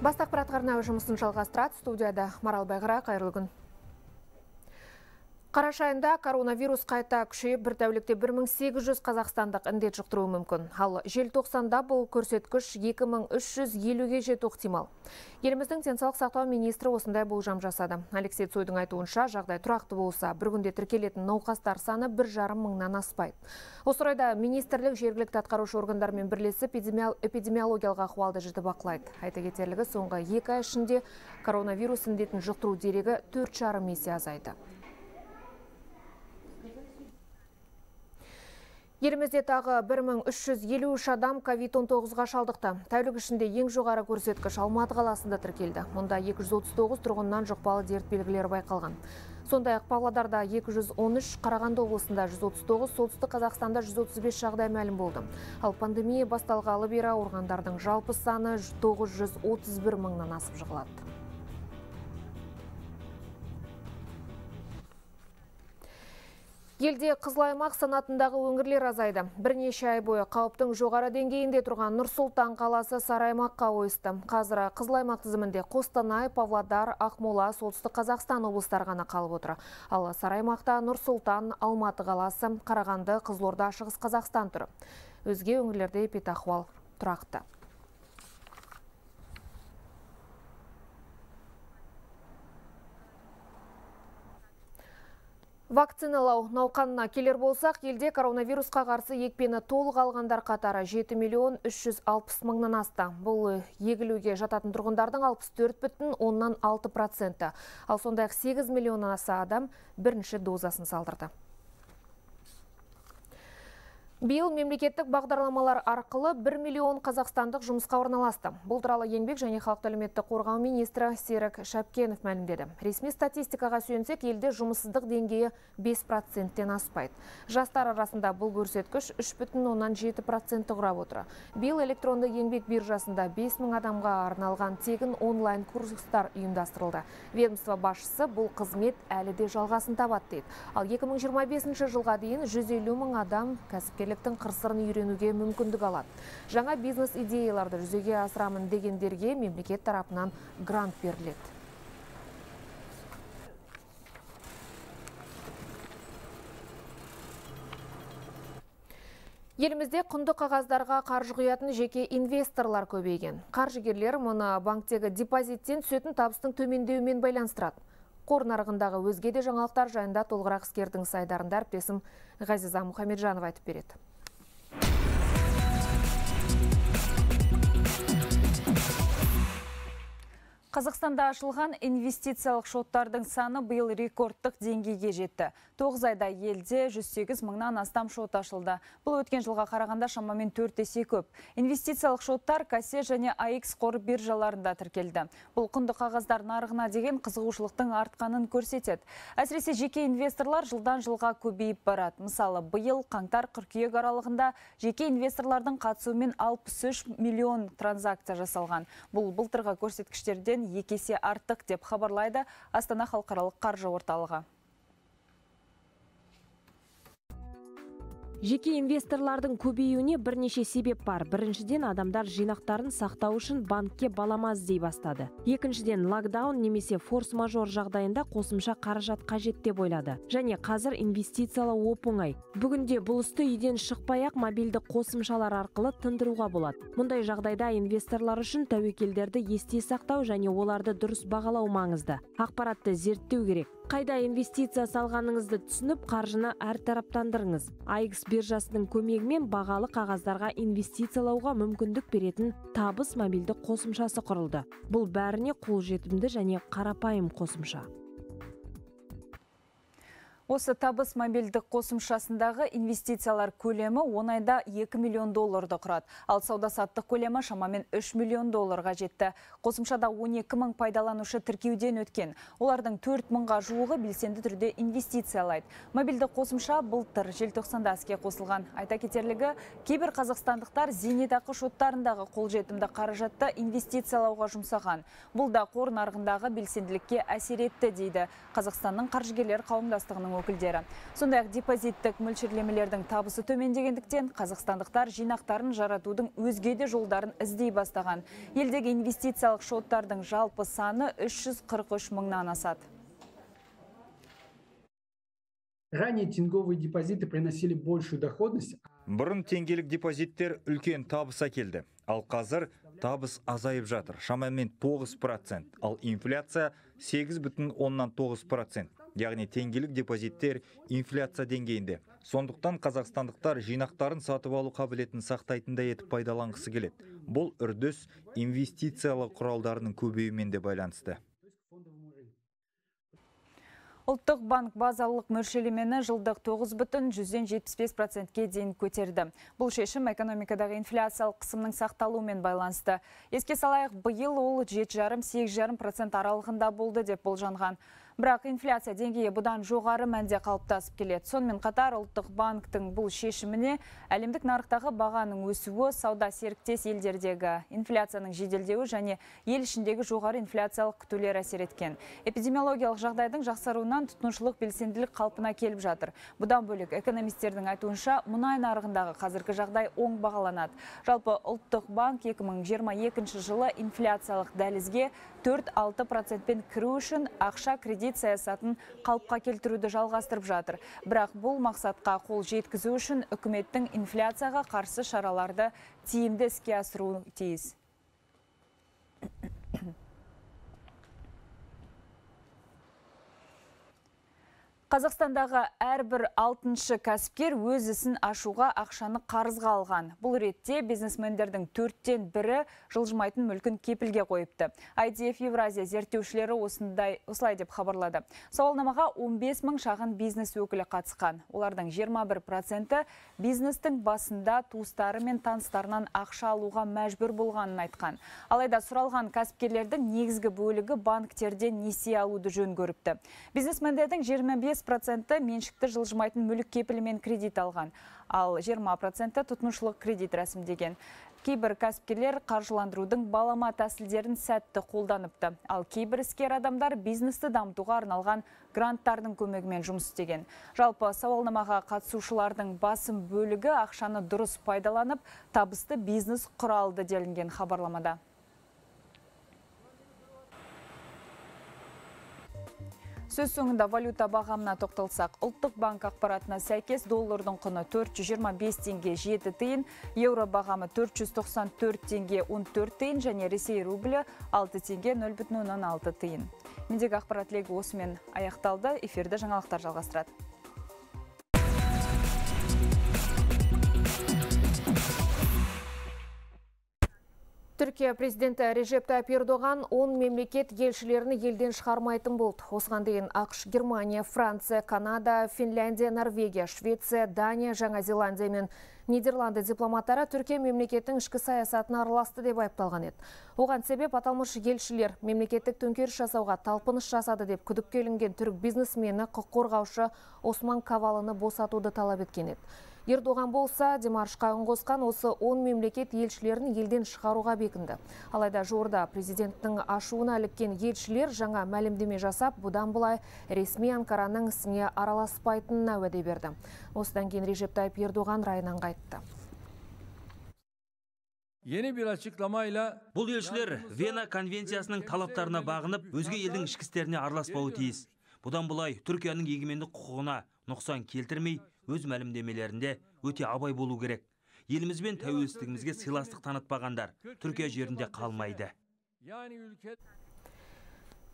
Бастық ақпарат жұмысын жалғастырады. Студияда Марал Байғыра, қайырлы күн. Қараша айында коронавирус қайта күшейіп, бір тәулікте 1800 қазақстандық індет жұқтыруы мүмкін. Ал желтоқсанда бұл көрсеткіш 2350-ге жету ықтимал. Еліміздің денсаулық сақтау министрі осындай болжам жасады. Алексей Цойдың айтуынша, жағдай тұрақты болса, бір күнде тіркелетін науқастар саны 1,5 мыңнан аспайды. Осы орайда министрлік жергілікті атқарушы органдармен бірлесіп эпидемиологиялық ахуалды жіті бақылайды. Айта кетерлігі, соңғы 2 ай ішінде коронавирус індетін жұқтыру дерегі 4,5 есе азайды. Елімізде тағы 1353 адам COVID-19-ға шалдықты. Тәулік ішінде ең жоғары көрсеткіш Алматы қаласында тіркелді. Мұнда 239 тұрғыннан жұқпалы дерт белгілері байқалған. Сондай-ақ Павлодарда 213, Қарағанды облысында 139, солтүстік Қазақстанда 135 жағдай мәлім болды. Ал пандемия басталғалы бері ауырғандардың жалпы саны 931 мыңнан асып жығылады. Елде қызыл аймақ санатындағы өңірлер азайды. Бірнеше ай бойы қауіптің жоғары деңгейінде тұрған Нұр-Сұлтан қаласы сары аймаққа ойысты. Қазір қызыл аймақ тізімінде Қостанай, Павлодар, Ақмола, солтүстік Қазақстан облыстары ғана қалып отыр. Ал сары аймақта Нұр-Сұлтан, Алматы қаласы, Қарағанды, Қызылорда, Шығыс Қазақстан тұр. Өзге өңірлерде эпидахуал тұрақты. Вакциналау науқанына келер болсақ, елде коронавирусқа қарсы екпені толық алғандар қатары 7,360,000 мыңнан асты. Бұл егілуге жататын тұрғындардың 64,6%. Ал сондай-ақ 8 миллионнан аса адам бірінші дозасын салдырды. Биыл мемлекеттік бағдарламалар арқылы 1 миллион қазақстандық жұмысқа орналасты. Бұл туралы еңбек және халықты әлеуметтік қорғау министрі Серік Шапкенов мәлімдеді. Ресми статистикаға сүйенсек, елде жұмыссыздық деңгейі 5%-тен аспайды. Жастар арасында бұл көрсеткіш 3,7% құрап отыр. Биыл электронды еңбек биржасында 5000 адамға арналған тегін онлайн курстар ұйымдастырылды. Ведомство басшысы бұл қызмет әлі де жалғасын табады дейді. Ал 2025 жылға дейін 150 мың адам кәсіпкерліктің қыр-сырын үйренуге мүмкіндік алады. Жаңа бизнес идеяларды жүзеге асырамын дегендерге мемлекет тарапынан грант беріледі. Елімізде құнды қағаздарға қаржы құятын жеке инвесторлар көбейген. Қаржыгерлер мұны банктегі депозиттен түсетін табыстың төмендеуімен байланыстырады. Қор нарығындағы өзге де жаңалықтар жайында толығырақ іскердің сайдарында әріптесім Ғазиза Мұхамеджанова айтып береді. Қазақстанда ашылған инвестициялық шоттардың саны биыл рекордтық деңгейге жетті. 9 айда елде 108 мыңнан астам шот ашылды. Бұл өткен жылға қарағанда шамамен 4 есе көп. Инвестициялық шоттар Кассе және АХ қор биржаларында тіркелді. Бұл құнды қағаздар нарығына деген қызығушылықтың артқанын көрсетеді. Әсіресе жеке инвесторлар жылдан жылға көбейіп барады. Мысалы, биыл қаңтар-қыркүйек аралығында жеке инвесторлардың қатысуымен 63 миллион транзакция жасалған. Бұл былтырғы көрсеткіштерден 2 есе артық деп хабарлайды Астана халықаралық қаржы орталығы. Жеке инвесторлардың көбеюіне бірнеше себеп бар. Біріншіден, адамдар жинақтарын сақтау үшін банкке балама іздей бастады. Екіншіден, локдаун немесе форс-мажор жағдайында қосымша қаражат қажет деп ойлады. Және қазір инвестициялау оп-оңай. Бүгінде бұл істі үйден шықпай-ақ мобильді қосымшалар арқылы тындыруға болады. Мұндай жағдайда инвесторлар үшін тәуекелдерді есте сақтау және оларды дұрыс бағалау маңызды. Ақпаратты зерттеу керек. Қайда инвестиция салғаныңызды түсініп, қаржыны әртараптандырыңыз. АХ биржасының көмегімен бағалы қағаздарға инвестициялауға мүмкіндік беретін табыс мобильді қосымшасы құрылды. Бұл бәріне қолжетімді және қарапайым қосымша. Осы табыс мобильдік қосымшасындағы инвестициялар көлемі 10 айда 2 миллион долларды құрады. Ал сауда-саттық көлемі шамамен 3 миллион долларға жетті. Қосымшада 12 мың пайдаланушы тіркеуден өткен. Олардың 4 мыңға жуығы белсенді түрде инвестициялайды. Мобильді қосымша былтыр желтоқсанда іске қосылған. Айта кетерлігі, кейбір қазақстандықтар зейнетақы шоттарындағы қолжетімді қаражатты инвестициялауға жұмсаған. Бұл да қор нарығындағы белсенділікке әсер етті дейді Қазақстанның қаржыгерлер қауымдастығының өкілдері. Сондай-ақ депозиттік мөлшерлемелердің табысы төмендегендіктен қазақстандықтар жинақтарын жаратудың өзге де жолдарын іздей бастаған. Елдегі инвестициялық шоттардың жалпы саны 343 мыңнан асады. Ранее тенговые депозиты приносили большую доходность. Бұрын теңгелік депозиттер үлкен табыс әкелді. Ал қазір табыс азайып жатыр. Шамамен 9%, ал инфляция 8,9%. Яғни теңгелік депозиттер инфляция деңгейінде. Сондықтан қазақстандықтар жинақтарын сатып алу қабілетін сақтайтындай етіп пайдаланғысы келеді. Бұл үрдіс инвестициялық құралдарының көбеюімен де байланысты. Ұлттық банк базалық мөлшерлемені жылдық 9,75%-ке дейін көтерді. Бұл шешім экономикадағы инфляциялық қысымның сақталуымен байланысты. Еске салайық, биыл ол 7,5-8,5% аралығында болды деп болжанған. Бірақ инфляция деңгейі бұдан жоғары мәнде қалыптасып келеді. Сонымен қатар ұлттық банктың бұл шешіміне әлемдік нарықтағы бағаның өсуі, сауда серіктес елдердегі инфляцияның жеделдеуі және ел ішіндегі жоғары инфляциялық күтулер әсер еткен. Эпидемиологиялық жағдайдың жақсаруынан тұтынушылық белсенділік қалпына келіп жатыр. Бұдан бөлек экономистердің айтуынша мұнай нарығындағы қазіргі жағдай оң бағаланады. Жалпы ұлттық банк 2022 жылы инфляциялық дәлізге 4-6%-пен кіру үшін ақша кредит саясатын қалыпқа келтіруді жалғастырып жатыр. Бірақ бұл мақсатқа қол жеткізу үшін үкіметтің инфляцияға қарсы шараларды тиімді іске асыруы тиіс. Қазақстандағы әрбір 6-шы кәсіпкер өз ісін ашуға ақшаны қарызға алған. Бұл ретте бизнесмендердің 4-тен 1-і жылжымайтын мүлкін кепілге қойыпты. IDF Евразия зерттеушілері осылай деп хабарлады. Сауалнамаға 15 мың шағын бизнес өкілі қатысқан. Олардың 21%-і бизнестің басында туыстары мен таныстарынан ақша алуға мәжбүр болғанын айтқан. Алайда сұралған кәсіпкерлердің негізгі бөлігі банктерден несие алуды жөн көріпті. Бизнесмендердің 25%-і меншікті жылжымайтын мүлік кепілімен кредит алған, ал 20%-і тұтынушылық кредит рәсімдеген. Кейбір кәсіпкерлер қаржыландырудың балама тәсілдерін сәтті қолданыпты, ал кейбір іскер адамдар бизнесті дамытуға арналған гранттардың көмегімен жұмыс істеген. Жалпы сауалнамаға қатысушылардың басым бөлігі ақшаны дұрыс пайдаланып, табысты бизнес құралды делінген хабарламада. Сөз соңында валюта бағамына тоқталсақ, ұлттық банк ақпаратына сәйкес доллардың құны 425 теңге 7 тиын, еуро бағамы 494 теңге 14 тиын және Ресей рублі 6 теңге 0,6 тиын. Мендегі ақпарат легі осымен аяқталды. Эфирді жаңалықтар жалғастырады. Түркия президенті Режеп Тайып Ердоған 10 мемлекет елшілеріні елден шығармайтын болды. Осыған дейін ақш, Германия, Франция, Канада, Финляндия, Норвегия, Швеция, Дания, Жаңа Зеландия мен Нидерланды дипломаттары Түркия мемлекеттің ішкі саясатына араласты деп айыпталған еді. Оған себеп аталмыш елшілер мемлекеттік төңкеріс жасауға талпыныс жасады деп күдікке ілінген түрік бизнесмені құқық қорғаушы Осман Кавалыны босатуды талап еткен еді. Ердоған болса, демаршқа үн қосқан осы 10 мемлекет елшілерін елден шығаруға бекінді. Алайда жуырда президенттің ашуына іліккен елшілер жаңа мәлімдеме жасап, бұдан былай ресми Анкараның ісіне араласпайтынына уәде берді. Осыдан кейін Режеп Тайып Ердоған райынан қайтты. Бұл елшілер Вена конвенциясының талаптарына бағынып, өзге елдің ішкі істеріне араласпауы тиіс. Бұдан былай Түркияның егемендік құқығына нұқсан келтірмей, өз мәлімдемелерінде өте абай болу керек. Еліміз бен тәуелсіздігімізге сыйластық танытпағандар Түркия жерінде қалмайды.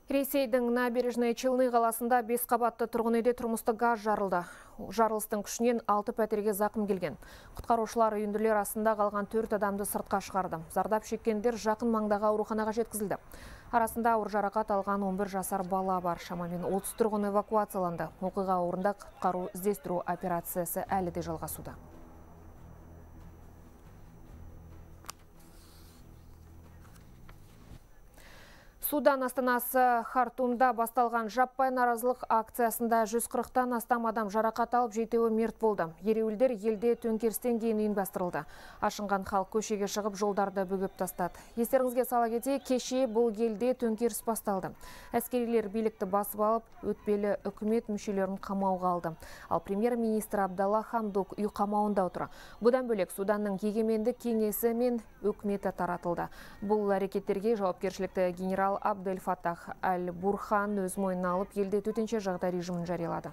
Ресейдің Набережный Челны қаласында 5 қабатты тұрғын үйде тұрмыстық газ жарылды. Жарылыстың күшінен 6 пәтерге зақым келген. Құтқарушылар үйінділер астында қалған 4 адамды сыртқа шығарды. Зардап шеккендер жақын маңдағы ауруханаға жеткізілді. Арасында ауыр жарақат алған 11 жасар бала бар. Шамамен 30 тұрғын эвакуацияланды. Оқиға орнында құтқару іздестіру операциясы әлі де жалғасуда. Судан астанасы Хартумда басталған жаппай наразылық акциясында 140-тан астам адам жарақат алып, 7-і мерт болды. Ереуілдер елде төңкерістен кейін ұйымдастырылды. Ашынған халық көшеге шығып, жолдарды бөгеп тастады. Естеріңізге сала кетейік, кеше бұл елде төңкеріс басталды. Әскерилер билікті басып алып, өтпелі үкімет мүшелерін қамауға алды. Ал премьер-министр Абдалла Хамдок үй қамауында отыр. Бұдан бөлек Суданның егемендік кеңесі мен үкіметі таратылды. Бұл әрекеттерге жауапкершілікті генерал Абдель Фаттах Аль-Бурхан өз мойнына алып, елде төтенше жағдай режимін жариялады.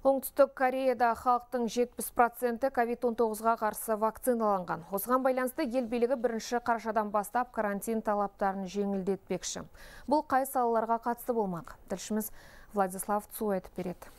Оңтүстік Кореяда халықтың 70% COVID-19-ға қарсы вакциналанған. Осыған байланысты ел билігі 1 қарашадан бастап карантин талаптарын жеңілдетпекші. Бұл қай салаларға қатысты болмақ? Тілшіміз Владислав Цой айтып береді.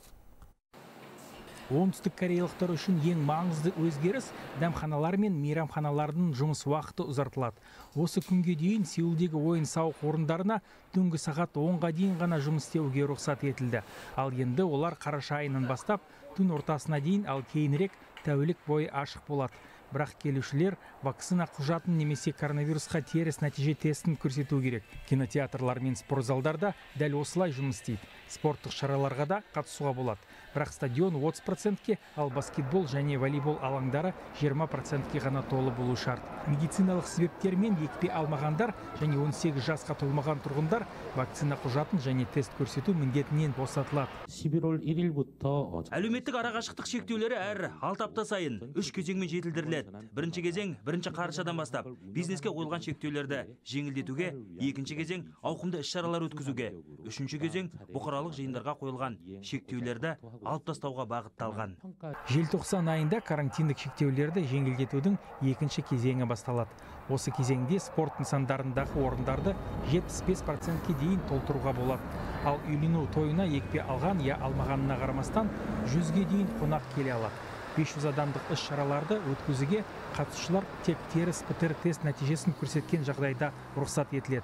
Оңтүстік кореялықтар үшін ең маңызды өзгеріс дәмханалар мен мейрамханалардың жұмыс уақыты ұзартылады. Осы күнге дейін Сеулдегі ойын-сауық орындарына түнгі сағат 10-ға дейін ғана жұмыс істеуге рұқсат етілді. Ал енді олар қараша айынан бастап түн ортасына дейін, ал кейінірек тәулік бойы ашық болады. Бірақ келушілер вакцина құжатын немесе коронавирусқа теріс нәтиже тестін көрсету керек. Кинотеатрлар мен спортзалдарда дәл осылай жұмыс істейді. Спорттық шараларға да қатысуға болады. Бірақ стадион 30%-ке, ал баскетбол және волейбол алаңдары 20%-ке ғана толы болу шарт. Медициналық себептермен екпе алмағандар және 18 жасқа толмаған тұрғындар вакцина құжатын және тест көрсету міндетінен босатылады. 11월 1일부터 Әлеуметтік арақашықтық шектеулері әр 6 апта сайын 3 кезеңмен жетілдіріледі. Бірінші кезең 1 қарашадан бастап бизнеске қойылған шектеулерді жеңілдетуге, екінші кезең ауқымды іс-шаралар өткізуге, үшінші кезең бұқаралық жиындарға қойылған шектеулерді алып тастауға бағытталған. Желтоқсан айында карантиндік шектеулерді жеңілдетудің екінші кезеңі басталады. Осы кезеңде спорт нысандарындағы орындарды 75%-ке дейін толтыруға болады. Ал үйлену тойына екпе алған я алмағанына қарамастан 100-ге дейін қонақ келе алады. 500 адамдық іс-шараларды өткізуге қатысушылар тек теріс ПЦР тест нәтижесін көрсеткен жағдайда рұқсат етіледі.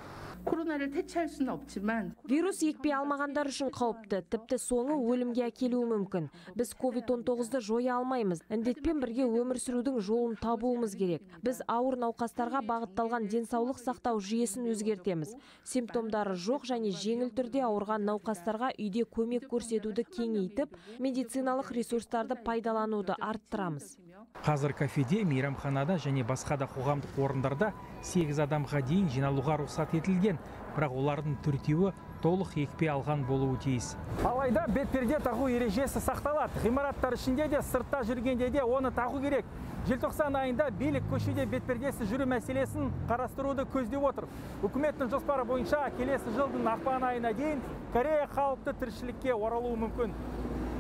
Вирус екпе алмағандар үшін қауіпті, тіпті соңы өлімге әкелуі мүмкін. Біз COVID-19-ды жоя алмаймыз. Індетпен бірге өмір сүрудің жолын табуымыз керек. Біз ауыр науқастарға бағытталған денсаулық сақтау жүйесін өзгертеміз. Симптомдары жоқ және жеңіл түрде ауырған науқастарға үйде көмек көрсетуді кеңейтіп, медициналық ресурстарды пайдалануды арттырамыз. Қазір кафеде, мейрамханада және басқа да қоғамдық орындарда 8 адамға дейін жиналуға рұқсат етілген, бірақ олардың 4-еуі толық екпе алған болуы тиіс. Алайда бетперде тағу ережесі сақталады. Ғимараттар ішінде де, сыртта жүргенде де оны тағу керек. Желтоқсан айында билік көшеде бетпердесі жүру мәселесін қарастыруды көздеп отыр. Үкіметтің жоспары бойынша келесі жылдың ақпан айына дейін Корея қалыпты тіршілікке оралуы мүмкін.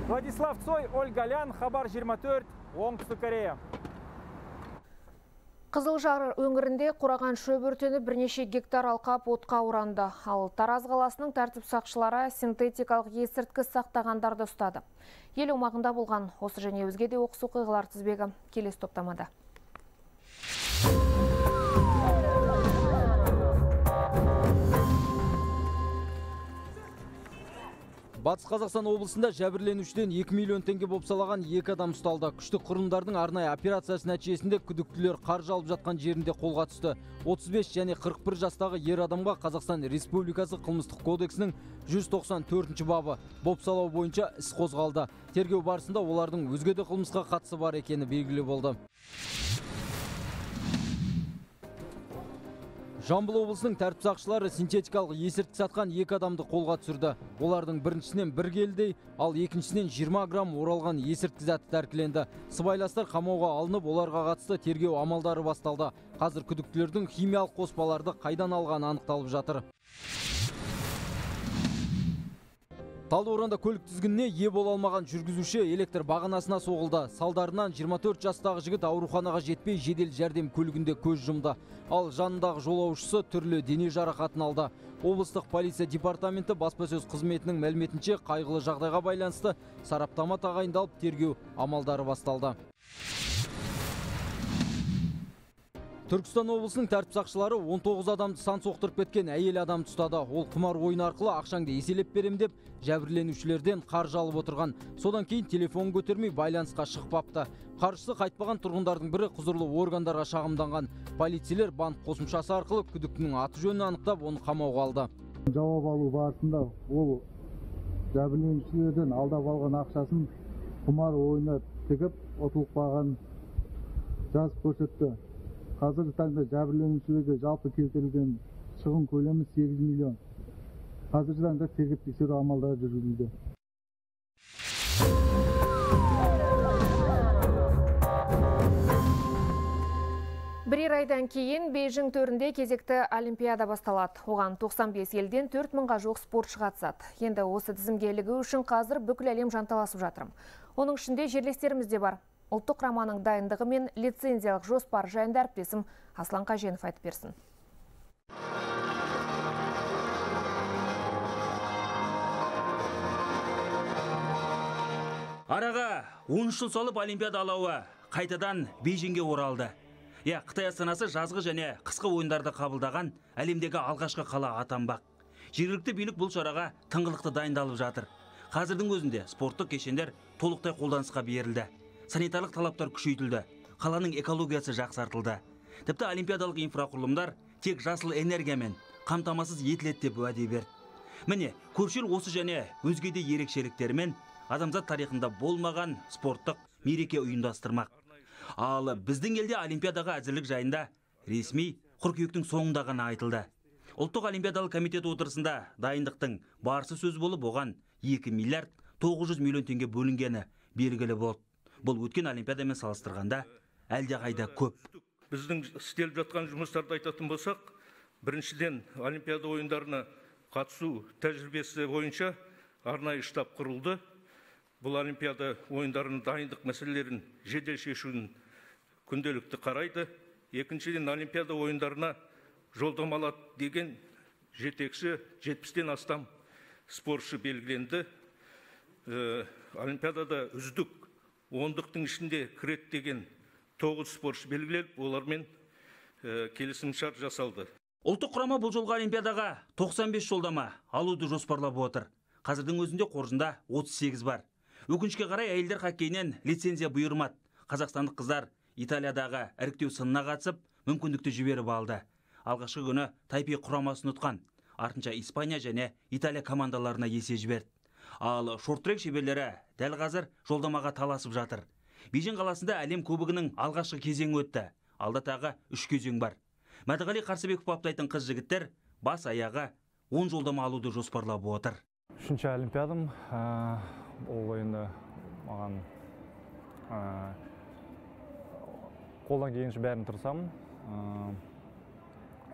Владислав Цой, Ольга Лян, Хабар 24, Оңтүстік Корея. Қызылжар өңірінде қураған шөп өртеніп бірнеше гектар алқап отқа оранды. Ал Тараз қаласының тәртіп сақшылары синтетикалық есірткі сақтағандарды ұстады. Ел аумағында болған осы және өзге де оқыс оқиғалар тізбегі келесі топтамада. Батыс Қазақстан облысында жәбірленушіден 2 миллион теңге бопсалаған 2 адам ұсталды. Күштік құрылымдардың арнайы операциясы нәтижесінде күдіктілер қаржы алып жатқан жерінде қолға түсті. 35 және 41 жастағы ер адамға Қазақстан Республикасы қылмыстық кодексінің 194 бабы бопсалау бойынша іс қозғалды. Тергеу барысында олардың өзге де қылмысқа қатысы бар екені белгілі болды. Жамбыл облысының тәртіп сақшылары синтетикалық есірткі сатқан 2 адамды қолға түсірді. Олардың біріншісінен 1 келідей, ал екіншісінен 20 грамм оралған есірткі заты тәркіленді. Сыбайластар қамауға алынып, оларға қатысты тергеу амалдары басталды. Қазір күдіктілердің химиялық қоспаларды қайдан алғаны анықталып жатыр. Талдықорғанда көлік тізгініне ие бола алмаған жүргізуші электр бағанасына соғылды. Салдарынан 24 жастағы жігіт ауруханаға жетпей жедел жәрдем көлігінде көз жұмды. Ал жанындағы жолаушысы түрлі дене жарақатын алды. Облыстық полиция департаменті баспасөз қызметінің мәліметінше қайғылы жағдайға байланысты сараптама тағайындалып, тергеу амалдары басталды. Түркістан облысының тәртіп сақшылары 19 адамды сан соқтырып кеткен әйел адамды ұстады. Ол құмар ойын арқылы ақшаңды еселеп берем деп жәбірленушілерден қаржы алып отырған. Содан кейін телефон көтермей байланысқа шықпапты. Қаржысы қайтпаған тұрғындардың бірі құзырлы органдарға шағымданған. Полицейлер банк қосымшасы арқылы күдіктінің аты жөнін анықтап, оны қамауға алды. Жауап алу барысында ол жәбірленушілерден алдап алған ақшасын құмар ойына тігіп ұтылып қалғанын жазып көрсетті. Қазіргі таңда жәбірленушілерге жалпы келтірілген шығын көлемі 8 миллион. Қазіргі таңда тергеп тексеру амалдары жүргізілуде. Бірер айдан кейін Бейжің төрінде кезекті олимпиада басталады. Оған 95 елден 4000-ға жоқ спортшы қатысады. Енді осы тізімге ілігу үшін қазір бүкіл әлем жанталасып жатыр. Оның ішінде жерлестеріміз де бар. Ұлттық құраманың дайындығы мен лицензиялық жоспар жайында әріптесім Аслан Қаженов айтып берсін. Араға 13 жыл салып олимпиада алауы қайтадан Бейжіңге оралды. Қытай астанасы жазғы және қысқы ойындарды қабылдаған әлемдегі алғашқы қала атанбақ. Жергілікті билік бұл шараға тыңғылықты дайындалып жатыр. Қазірдің өзінде спорттық кешендер толықтай қолданысқа берілді. Санитарлық талаптар күшейтілді. Қаланың экологиясы жақсартылды. Тіпті олимпиадалық инфрақұрылымдар тек жасыл энергиямен қамтамасыз етіледі деп уәде берді. Міне, көпшіл осы және өзге де ерекшеліктермен адамзат тарихында болмаған спорттық мереке ұйымдастырмақ. Ал біздің елде олимпиадаға әзірлік жайында ресми қыркүйектің соңында ғана айтылды. Ұлттық олимпиадалық комитет отырысында дайындықтың барысы сөз болып, оған 2 миллиард 900 миллион теңге бөлінгені белгілі болды. Бұл өткен олимпиадамен салыстырғанда әлдеқайда көп. Біздің істеліп жатқан жұмыстарды айтатын болсақ, біріншіден олимпиада ойындарына қатысу тәжірибесі бойынша арнайы штаб құрылды. Бұл олимпиада ойындарының дайындық мәселелерін жедел шешуін күнделікті қарайды. Екіншіден, олимпиада ойындарына жолдамалады деген жетекші 70-тен астам спортшы белгіленді. Олимпиадада үздік 10-дықтың ішінде кіреді деген 9 спортшы белгіленіп, олармен келісімшарт жасалды. Ұлттық құрама бұл жолғы олимпиадаға 95 жолдама алуды жоспарлап отыр. Қазірдің өзінде қоржында 38 бар. Өкінішке қарай әйелдер хоккейінен лицензия бұйырмады. Қазақстандық қыздар Италиядағы іріктеу сынына қатысып, мүмкіндікті жіберіп алды. Алғашқы күні Тайпей құрамасын ұтқан. Артынша Испания және Италия командаларына есе жіберді. Ал шорт-трек шеберлері дәл қазір жолдамаға таласып жатыр. Бейжің қаласында әлем кубогының алғашқы кезеңі өтті. Алда тағы 3 кезең бар. Мәдіғали Қарсыбеков баптайтын қыз жігіттер бас аяғы 10 жолдама алуды жоспарлап отыр. Үшінші олимпиадам, ол енді маған қолдан келгенше бәрін тырысамын.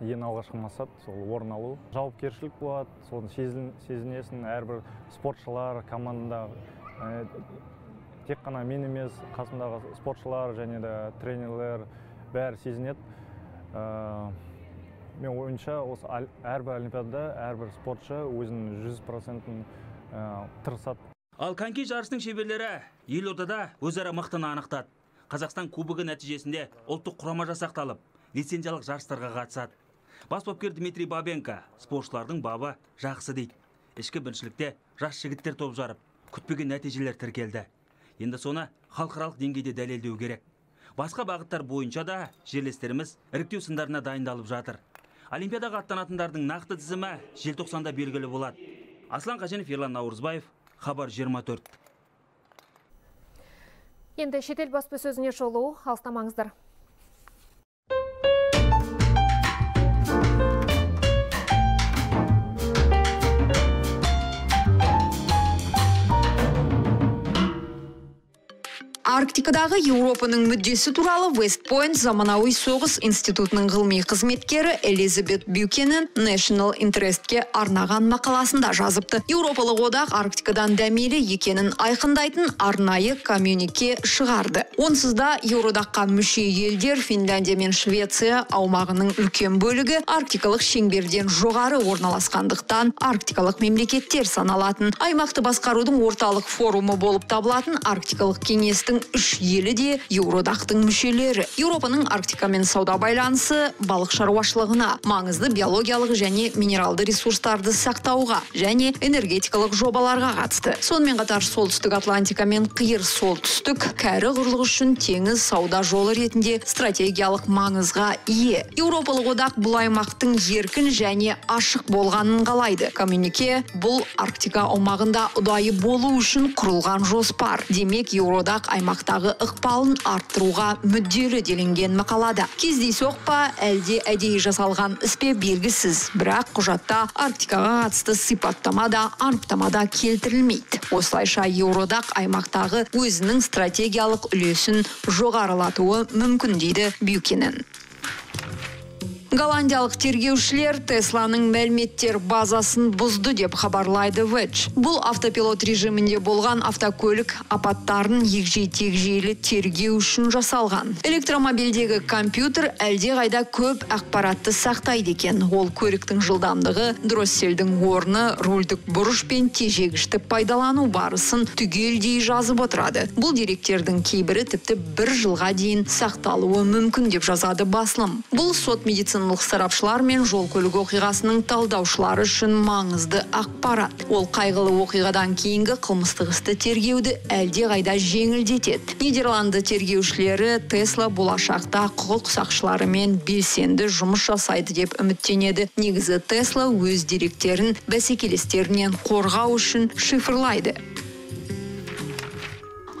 Ең алғашқы мақсат сол орын алу. Жауапкершілік болады, соны сезінесің. Әрбір спортшылар командада тек қана мен емес, қасымдағы спортшылар және де тренерлер бәрі сезінеді. Мен ойынша осы әрбір олимпиадада әрбір спортшы өзінің 100%-ын тырысады. Ал коньки жарысының шеберлері елордада өзара мықтыны анықтады. Қазақстан кубогы нәтижесінде ұлттық құрама жасақталып, лицензиялық жарыстарға қатысады. Бас бапкер Дмитрий Бабенко спортшылардың бабы жақсы дейді. Ішкі біріншілікте жас жігіттер топ жарып, күтпеген нәтижелер тіркелді. Енді соны халықаралық деңгейде дәлелдеу керек. Басқа бағыттар бойынша да жерлестеріміз іріктеу сындарына дайындалып жатыр. Олимпиадаға аттанатындардың нақты тізімі желтоқсанда белгілі болады. Аслан Қаженов, Ерлан Наурызбаев, Хабар 24. Енді шетел баспасөзіне шолу, алыстамаңыздар. Арктикадағы Еуропаның мүддесі туралы Вестпойнт заманауи соғыс институтының ғылыми қызметкері Элизабет Бюкенен National Interest'ке арнаған мақаласында жазыпты. Еуропалық одақ Арктикадан дәмелі екенін айқындайтын арнайы коммюнике шығарды. Онсыз да Еуроодаққа мүше елдер Финляндия мен Швеция аумағының үлкен бөлігі арктикалық шеңберден жоғары орналасқандықтан арктикалық мемлекеттер саналатын. Аймақты басқарудың орталық форумы болып табылатын Арктикалық кеңестің 3 елі де Еуродақтың мүшелері. Еуропаның Арктикамен сауда байланысы балық шаруашылығына, маңызды биологиялық және минералды ресурстарды сақтауға және энергетикалық жобаларға қатысты. Сонымен қатар солтүстік Атлантика мен қиыр солтүстік кәрі құрлық үшін теңіз сауда жолы ретінде стратегиялық маңызға ие. Еуропалық одақ бұл аймақтың еркін және ашық болғанын қалайды. Коммюнике бұл Арктика аумағында ұдайы болу үшін құрылған жоспар. Демек, Еуродақ аймақтағы ықпалын арттыруға мүдделі делінген мақалада. Кездейсоқ па, әлде әдейі жасалған іспе белгісіз, бірақ құжатта Арктикаға қатысты сипаттама да анықтамада келтірілмейді. Осылайша Еуродақ аймақтағы өзінің стратегиялық үлесін жоғарылатуы мүмкін дейді Бюкенен. Голландиялық тергеушілер Тесланың мәліметтер базасын бұзды деп хабарлайды Wedge. Бұл автопилот режимінде болған автокөлік апаттарын егжей-тегжейлі тергеу үшін жасалған. Электромобильдегі компьютер әлде қайда көп ақпаратты сақтайды екен. Ол көліктің жылдамдығы, дросселдің орны, рульдік бұрыш пен тежегішті пайдалану барысын түгелдей жазып отырады. Бұл деректердің кейбірі тіпті 1 жылға дейін сақталуы мүмкін деп жазады басылым. Бұл сот медициналық сарапшылар мен жол көлік оқиғасының талдаушылары үшін маңызды ақпарат. Ол қайғылы оқиғадан кейінгі қылмыстық істі тергеуді әлде қайда жеңілдетеді. Нидерланды тергеушілері Тесла болашақта құқық сақшыларымен белсенді жұмыс жасайды деп үміттенеді. Негізі Тесла өз деректерін бәсекелестерінен қорғау үшін шифрлайды.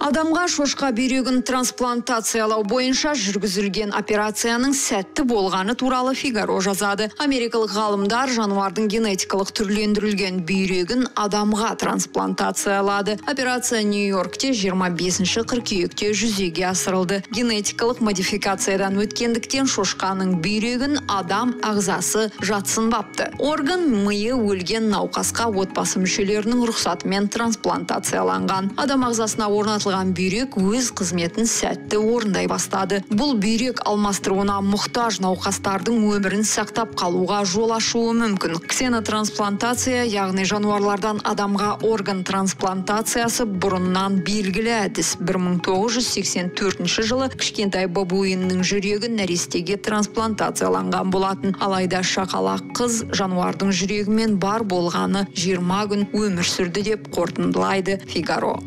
Адамға шошқа бүйрегін трансплантациялау бойынша жүргізілген операцияның сәтті болғаны туралы Фигаро жазады. Америкалық ғалымдар жануардың генетикалық түрлендірілген бүйрегін адамға трансплантациялады. Операция Нью-Йоркте 25 қыркүйекте жүзеге асырылды. Генетикалық модификациядан өткендіктен шошқаның бүйрегін адам ағзасы жатсынбапты. Орган миы өлген науқасқа отбасы мүшелерінің рұқсатымен трансплантацияланған. Адам ағзасына орнатылған бүйрек өз қызметін сәтті орындай бастады. Бұл бүйрек алмастыруына мұқтаж науқастардың өмірін сақтап қалуға жол ашуы мүмкін. Ксенотрансплантация, яғни жануарлардан адамға орган трансплантациясы бұрыннан белгілі әдіс. 1984 жылы кішкентай бабуиннің жүрегі нәрестеге трансплантацияланған болатын. Алайда шақалақ қыз жануардың жүрегімен бар болғаны 20 күн өмір сүрді деп қорытындылайды Фигаро.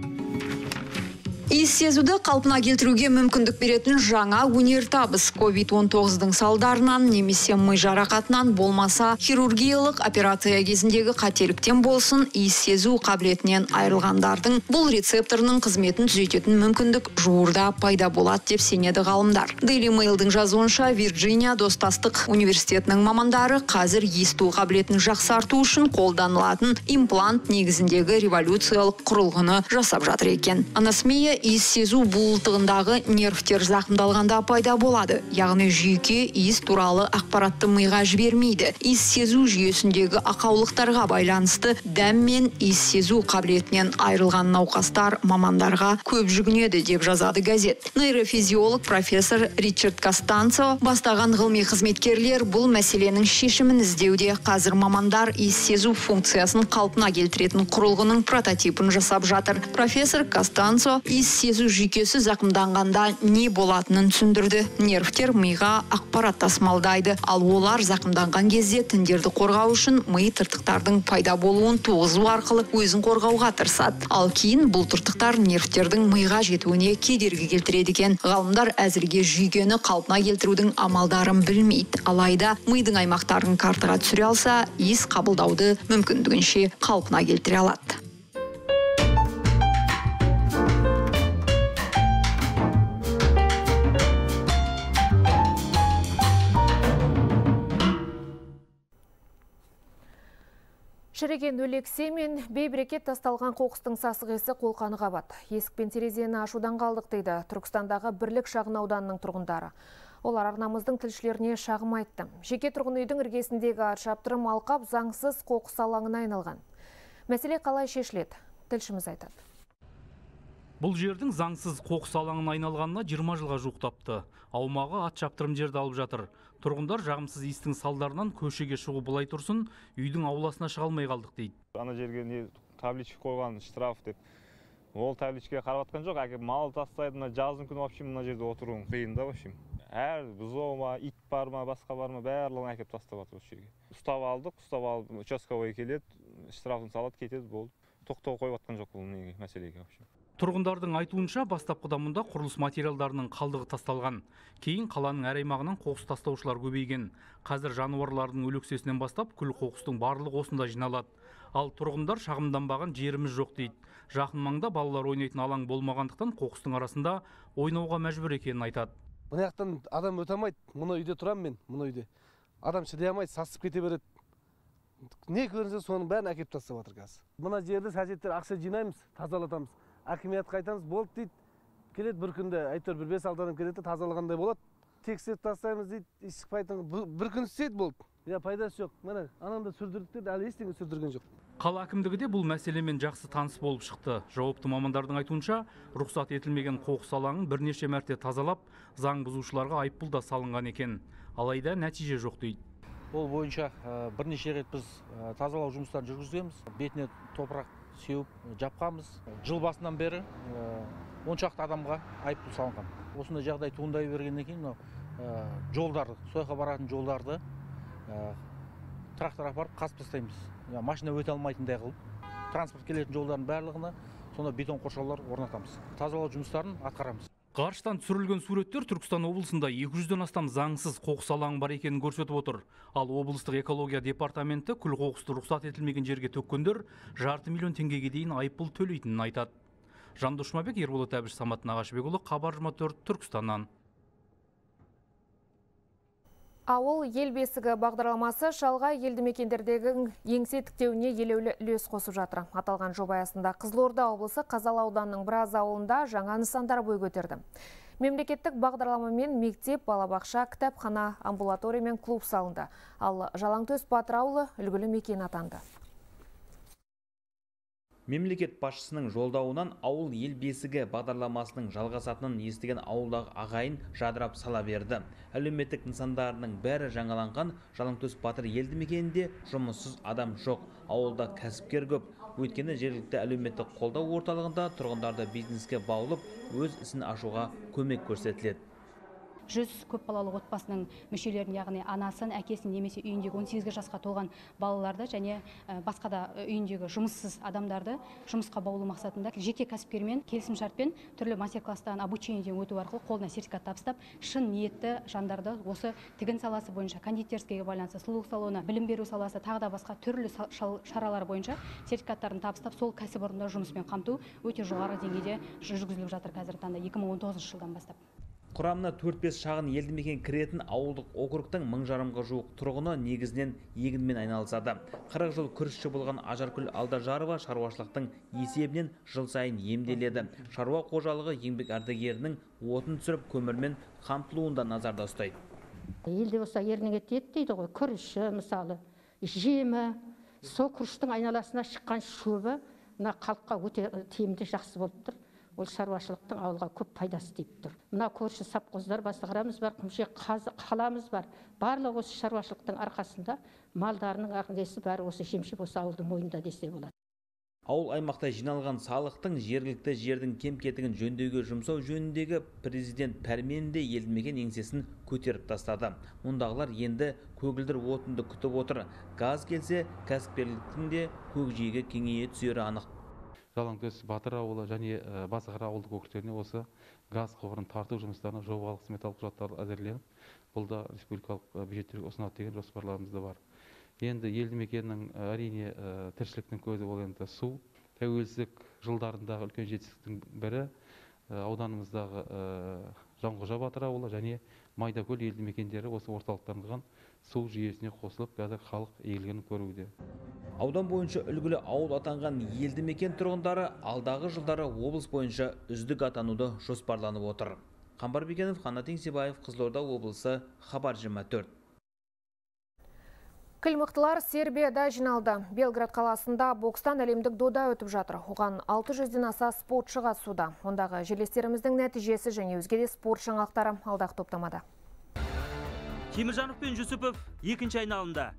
Иіс сезуді қалпына келтіруге мүмкіндік беретін жаңа өнертабыс. COVID-19-дың салдарынан немесе ми жарақатынан болмаса хирургиялық операция кезіндегі қателіктен болсын, иіс сезу қабілетінен айырылғандардың бұл рецепторының қызметін түзететін мүмкіндік жуырда пайда болады деп сенеді ғалымдар. Daily Mail'дің жазуынша Вирджиния достастық университетінің мамандары қазір есту қабілетін жақсарту үшін қолданылатын имплант негізіндегі революциялық құрылғыны жасап жатыр екен. Анасмия иіс сезу буылтығындағы нервтер зақымдалғанда пайда болады. Яғни жүйке иіс туралы ақпаратты миға жібермейді. Иіс сезу жүйесіндегі ақаулықтарға байланысты дәм мен иіс сезу қабілетінен айырылған науқастар мамандарға көп жүгінеді деп жазады газет. Нейрофизиолог профессор Ричард Костанцо бастаған ғылыми қызметкерлер бұл мәселенің шешімін іздеуде. Қазір мамандар иіс сезу функциясын қалпына келтіретін құрылғының прототипін жасап жатыр. Профессор Костанцо иіс сезу жүйкесі зақымданғанда не болатынын түсіндірді. Нервтер миға ақпарат тасымалдайды, ал олар зақымданған кезде тіндерді қорғау үшін ми тыртықтардың пайда болуын туғызу арқылы өзін қорғауға тырысады. Ал кейін бұл тыртықтар нервтердің миға жетуіне кедергі келтіреді екен. Ғалымдар әзірге жүйкені қалпына келтірудің амалдарын білмейді. Алайда мидың аймақтарын картаға түсіре алса, иіс қабылдауды мүмкіндігінше қалпына келтіре алады. Шіреген өлексе мен бейберекет тасталған қоқыстың сасығысы қолқаны қабат. Есік пен терезені ашудан қалдық дейді Түркістандағы Бірлік шағын ауданының тұрғындары. Олар арнамыздың тілшілеріне шағым айтты. Жеке тұрғын үйдің іргесіндегі шаптырым алқап заңсыз қоқыс алаңына айналған. Мәселе қалай шешіледі? Тілшіміз айтады. Бұл жердің заңсыз қоқыс алаңына айналғанына 20 жылға жуықтапты. Аумағы ат шаптырым жерді алып жатыр. Тұрғындар жағымсыз иістің салдарынан көшеге шығу былай тұрсын, үйдің ауласына шыға алмай қалдық дейді. Ана жерге табличка қойған штраф деп Ол табличкаға қарап жатқан жоқ, әкеп мал тастайды, мына жаздың күні вообще мына жерде отыруың қиын да вообще. Әр бұзау ма, ит бар ма, басқа бар ма, барлығын әкеп тастап жатыр осы жерге. Ұстап алдық, участковый келеді, штрафын салады, кетеді, болды. Тоқтау қойып жатқан жоқ бұл мәселеге вообще. Тұрғындардың айтуынша бастапқыда мұнда құрылыс материалдарының қалдығы тасталған. Кейін қаланың әр аймағынан қоқыс тастаушылар көбейген. Қазір жануарлардың өлексесінен бастап күл қоқыстың барлығы осында жиналады. Ал тұрғындар шағымданбаған жеріміз жоқ дейді. Жақын маңда балалар ойнайтын алаң болмағандықтан қоқыстың арасында ойнауға мәжбүр екенін айтады. Мына жақтан адам өте алмайды. Мына үйде тұрамын мен, мына үйде. Адам шыдай алмайды, сасып кете береді. Не көрінсе соның бәрін әкеп тастап жатыр қазір. Мына жерді сәжеттер ақша жинаймыз, тазалатамыз. Акимиятқа айтамыз, болды дейді. Келеді бір күнде әйтеуір бір 5-6 адам келеді, тазалағандай болады. Тексеріп тастаймыз дейді, еш шықпайтын. Бір күн істейді болды. Я пайдасы жоқ. Міне, анамда сүрдірдік деді, әлі ештеңе сүрдірген жоқ. Қала әкімдігі де бұл мәселемен жақсы таныс болып шықты. Жауапты мамандардың айтуынша, рұқсат етілмеген қоқыс алаңын бірнеше мәрте тазалап, заң бұзушыларға айыппұл да салынған екен. Алайда нәтиже жоқ дейді. Ол бойынша бірнеше рет біз тазалау жұмыстарын жүргіземіз. Бетіне топырақ сеуіп жапқанбыз. Жыл басынан бері 10 шақты адамға айыппұл салынған. Осындай жағдай туындай бергеннен кейін жолдарды, сойға баратын жолдарды трактор апарып қазып тастаймыз. Машина өте алмайтындай қылып, транспорт келетін жолдардың барлығына сонда бетон қоршаулар орнатамыз. Тазалау жұмыстарын атқарамыз. Ғарыштан түсірілген суреттер Түркістан облысында 200-ден астам заңсыз қоқыс алаңы бар екенін көрсетіп отыр. Ал облыстық экология департаменті күл қоқысты рұқсат етілмеген жерге төккендер 500 миллион теңгеге дейін айыппұл төлейтінін айтады. Жандос Жұмабек, Ерболат Әбіш, Самат Нағашыбекұлы, Хабар 24, Түркістаннан. Ауыл ел бесігі бағдарламасы шалғай елді мекендердегі еңсе тіктеуіне елеулі үлес қосып жатыр. Аталған жоба аясында Қызылорда облысы Қазалы ауданының біраз ауылында жаңа нысандар бой көтерді. Мемлекеттік бағдарламамен мектеп, балабақша, кітапхана, амбулатория мен клуб салынды. Ал Жалаңтөс Батыр ауылы үлгілі мекен атанды. Мемлекет басшысының жолдауынан ауыл ел бесігі бағдарламасының жалғасатынын естіген ауылдағы ағайын жадырап сала берді. Әлеуметтік нысандарының бәрі жаңаланған Жалаңтөс Батыр елді мекенінде жұмыссыз адам жоқ. Ауылда кәсіпкер көп. Өйткені жергілікті әлеуметтік қолдау орталығында тұрғындарды бизнеске баулып, өз ісін ашуға көмек көрсетіледі. 100 көпбалалы отбасының мүшелерін, яғни анасын, әкесін немесе үйіндегі 18 жасқа толған балаларды және басқа да үйіндегі жұмыссыз адамдарды жұмысқа баулу мақсатында жеке кәсіпкермен келісімшартпен түрлі мастер-класстан обучениеден өту арқылы қолына сертификат табыстап, шын ниетті жандарды осы тігін саласы бойынша, кондитерскийге байланысты, сұлулық салоны, білім беру саласы, тағы да басқа түрлі шаралар бойынша сертификаттарын табыстап, сол кәсіпорында жұмыспен қамту өте жоғары деңгейде жүргізіліп жатыр қазіргі таңда 2019 жылдан бастап. Құрамына 4-5 шағын елді мекен кіретін ауылдық округтың 1000-ға жуық тұрғыны негізінен егінмен айналысады. 40 жыл күрішші болған Ажаркүл Алдажарова шаруашылықтың есебінен жыл сайын емделеді. Шаруа қожалығы еңбек ардагерінің отын түсіріп көмірмен қамтылуында назарда ұстайды. Елде болса ерніңе тиеді дейді ғой, күріші мысалы, жемі, сол күріштің айналасына шыққан шөбі мына халыққа өте тиімді жақсы болып тұр. Ол шаруашылықтың ауылға көп пайдасы тиіп тұр. Мына көрші сапқоздар, басығарамыз бар, құмшек қаламыз бар. Барлығы осы шаруашылықтың арқасында малдарының ағындесі бәрі осы жемшіп осы ауылдың мойнында десе болады. Ауыл аймақта жиналған салықтың жергілікті жердің кем-кетігін жөндеуге жұмсау жөніндегі президент пәрменінде елді мекен еңсесін көтеріп тастады. Мұндағылар енді көгілдір отынды күтіп отыр. Газ келсе, кәсіпкерліктің де көкжиегі кеңейе түсері анық. Жалаңтөс Батыр ауылы және Басықара ауылдық округтеріне осы газ құбырын тарту жұмыстарына жобалық сметалық құжаттар әзірленіп, бұл да республикалық бюджеттерге ұсынады деген жоспарларымыз да бар. Енді елді мекеннің әрине тіршіліктің көзі ол енді су. Тәуелсіздік жылдарындағы үлкен жетістіктің бірі ауданымыздағы Жанқожа Батыр ауылы және Майдакөл елді мекендері осы орталықтандырған су жүйесіне қосылып, қазір халық игілігін көруде. Аудан бойынша үлгілі ауыл атанған елді мекен тұрғындары алдағы жылдары облыс бойынша үздік атануды жоспарланып отыр. Қамбар Бекенов, Қанат Еңсебаев, Қызылорда облысы, Хабар 24. Кіл-мықтылар Сербияда жиналды. Белград қаласында бокстан әлемдік дода өтіп жатыр. Оған 600-ден аса спортшы қатысуда. Ондағы жерлестеріміздің нәтижесі және өзге де спорт жаңалықтары алдағы топтамада. Теміржанов пен Жүсіпов екінші айналымда.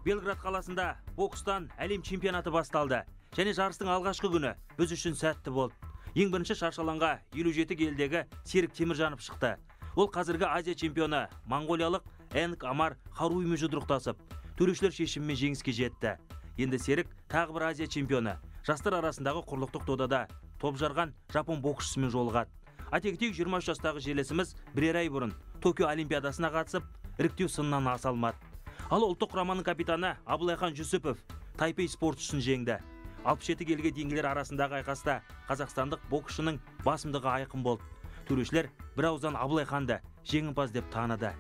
Белград қаласында бокстан әлем чемпионаты басталды. Және жарыстың алғашқы күні біз үшін сәтті болды. Ең бірінші шаршаланға 57 келідегі Серік Теміржанов шықты. Ол қазіргі Азия чемпионы моңғолиялық Энг Амар Харуимен жұдырықтасып, төрешілер шешімімен жеңіске жетті. Енді Серік тағы бір Азия чемпионы. Жастар арасындағы құрлықтық додада топ жарған жапон боксшысымен жолығады. Айта кетейік, 23 жастағы желесіміз бірер ай бұрын Токио олимпиадасына қатысып, іріктеу сынынан аса алмады. Ал ұлттық құраманың капитаны Абылайхан Жүсіпов Тайпей спортшысын жеңді. 67 келіге дейінгілер арасындағы айқаста қазақстандық боксшының басымдығы айқын болды. Төрешілер бір ауыздан Абылайханды жеңімпаз деп таныды.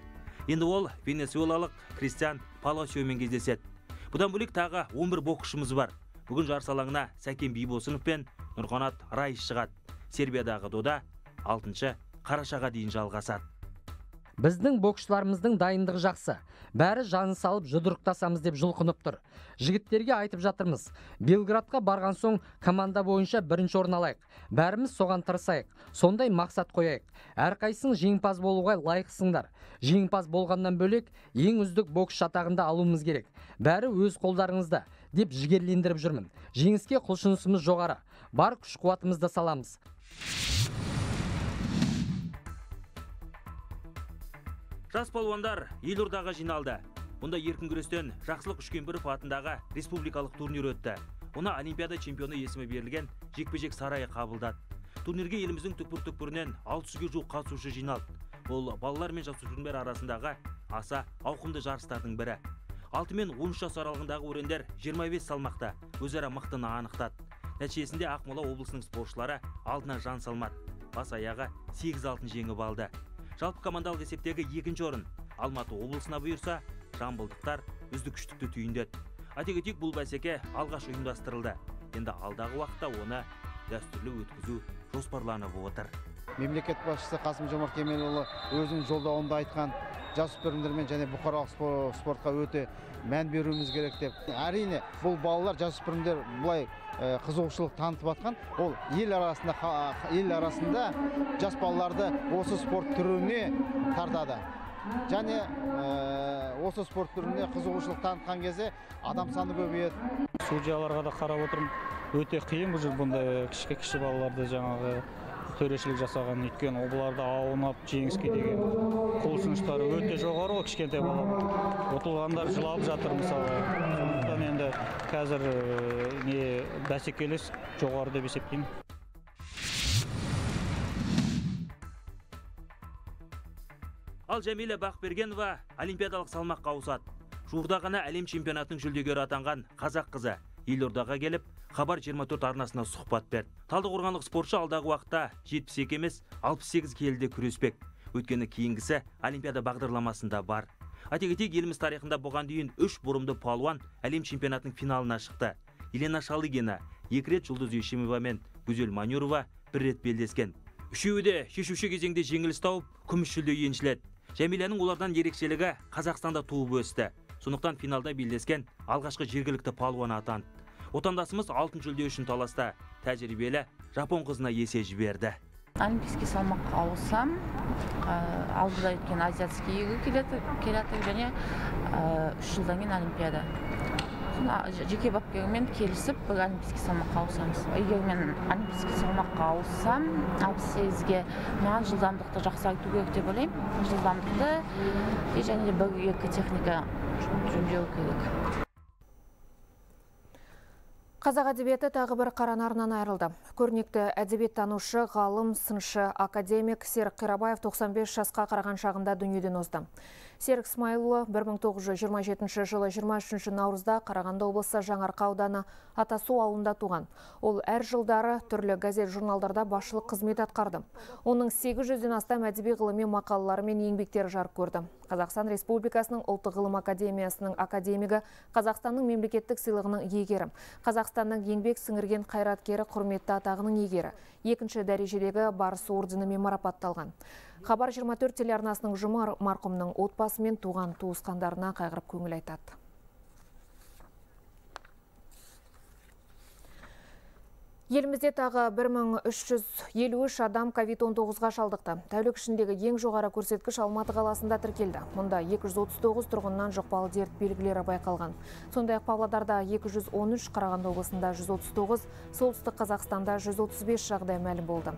Енді ол венесуэлалық Кристиан Паласиомен кездеседі. Бұдан бөлек тағы 11 боксшымыз бар. Бүгін жарыс алаңына Сәкен Бейбосынов пен Нұрқанат Райыс шығады. Сербиядағы дода 6 қарашаға дейін жалғасады. Біздің боксшыларымыздың дайындығы жақсы. Бәрі жаны салып жұдырықтасамыз деп жұлқынып тұр. Жігіттерге айтып жатырмыз. Белградқа барған соң команда бойынша бірінші орын алайық. Бәріміз соған тырысайық. Сондай мақсат қояйық. Әрқайсың жеңімпаз болуға лайықсыңдар. Жеңімпаз болғаннан бөлек ең үздік бокс атағында алуымыз керек. Бәрі өз қолдарыңызда деп жігерлендіріп жүрмін. Жеңіске құлшынысымыз жоғары. Бар күш-қуатымызды саламыз. Жас палуандар Елордаға жиналды. Онда еркін күрестен Жақсылық Үшкембіров атындағы республикалық турнир өтті. Ona Олимпиада чемпионы есімі берілген жекпе-жек сарайы қабылдады. Турнирге еліміздің түкпір-түкпірінен 600-ге жуық қатысушы жиналды. Ол балалар мен жасөспірімдер арасындағы аса ауқымды жарыстардың бірі. 6 мен 13 жас аралығындағы өрендер 25 салмақта өзара мықтыны анықтады. Нәтижесінде Ақмола облысының спортшылары алдына жан салмады. Бас аяғы 8 алтын жеңіп алды. Жалпы командалық есептегі 2-ші орын Алматы облысына бұйырса, жамбылдықтар үздік үштікті түйіндеді. Айта кетейік, бұл бәсеке алғаш ұйымдастырылды. Енді алдағы уақытта оны дәстүрлі өткізу жоспарланып отыр. Мемлекет басшысы Қасым-Жомарт Кемелұлы өзінің жолдауында айтқан, жасөспірімдермен және бұқаралық спортқа өте мән беруіміз керек деп. Әрине, бұл балалар, жасөспірімдер бұлай қызығушылық танытып атқан, ол ел арасында жас балаларды осы спорт түріне тартады. Және осы спорт түріне қызығушылық танытқан кезде адам саны көбейеді. Судьяларға да қарап отырмын, өте қиын бұл бұндай кіші балаларды жаңағы төрешілік жасаған, өйткені оларды аунап жеңіске деген құлшыныштары өте жоғары, кішкентай балалар. Ұтылғандар жылап жатыр мысалы. Сондықтан енді қазір бәсекелес жоғары деп есептеймін. Ал Жәмилә Бақбергенова олимпиадалық салмаққа ауысады. Жуырда ғана әлем чемпионатының жүлдегері атанған қазақ қызы Елордаға келіп, Хабар 24 арнасына сұхбат берді. Талдықорғанлық спортшы алдағы уақытта 72 емес 68 келіде күреспек. Өйткені кейінгісі олимпиада бағдарламасында бар. Айта кетейік, еліміз тарихында бұған дейін 3 бұрымды палуан әлем чемпионатының финалына шықты. Елена Шалыгина 2 рет, Жұлдыз Ешемова мен Гүзел Манюрова 1 рет белдескен. Үшеуі де шешуші кезеңде жеңіліс тауып, күміс жүлде еншіледі. Жәмиләнің олардан ерекшелігі Қазақстанда туып өсті. Сондықтан финалда белдескен алғашқы жергілікті палуан атанды. Отандасымыз алтын жүлде үшін таласта тәжірибелі жапон қызына есе жіберді. Олимпийский салмаққа ауысам, алдыда өткен азиатский келеді және 3 жылдан кейін олимпиада. Жеке бапкермен келісіп, бір олимпийский салмаққа ауысамыз. Егер мен олимпийский салмаққа ауыссам, 68-ге маған жылдамдықты жақсарту керек деп ойлаймын. Жылдамдықты және де бір-екі техника жөндеу керек. Қазақ әдебиеті тағы бір қара нарынан айырылды. Көрнекті әдебиеттанушы, ғалым, сыншы, академик Серік Қирабаев 95 жасқа қараған шағында дүниеден озды. Серік Смайылұлы 1927 жылы 23 наурызда Қарағанды облысы Жаңарқа ауданы Атасу ауылында туған. Ол әр жылдары түрлі газет журналдарда басшылық қызмет атқарды. Оның 800-ден астам әдеби ғылыми мақалалары мен еңбектері жарық көрді. Қазақстан Республикасының ұлттық ғылым академиясының академигі, Қазақстанның мемлекеттік сыйлығының иегері, Қазақстанның еңбек сіңірген қайраткері құрметті атағының иегері, 2-ші дәрежедегі Барыс орденімен марапатталған. Хабар 24 телеарнасының ұжымы марқұмның отбасы мен туған туысқандарына қайғырып көңіл айтады. Елімізде тағы 1353 адам COVID-19-ға шалдықты. Тәулік ішіндегі ең жоғары көрсеткіш Алматы қаласында тіркелді. Мұнда 239 тұрғыннан жұқпалы дерт белгілері байқалған. Сондай-ақ Павлодарда 213, Қарағанды облысында 139, Солтүстік Қазақстанда 135 жағдай мәлім болды.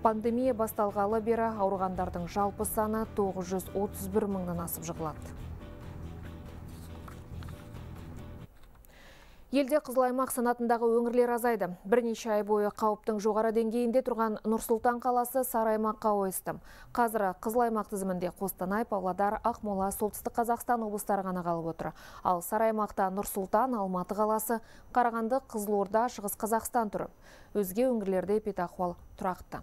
Пандемия басталғалы бері ауырғандардың жалпы саны 931 мыңнан асып жығылады. Елде қызыл аймақ санатындағы өңірлер азайды. Бірнеше ай бойы қауіптің жоғары деңгейінде тұрған Нұр-Сұлтан қаласы сары аймаққа ойысты. Қазір қызыл аймақ тізімінде Қостанай, Павлодар, Ақмола, Солтүстік Қазақстан облыстары ғана қалып отыр. Ал сары аймақта Нұр-Сұлтан, Алматы қаласы, Қарағанды, Қызылорда, Шығыс Қазақстан тұр. Өзге өңірлерде эпидахуал тұрақты.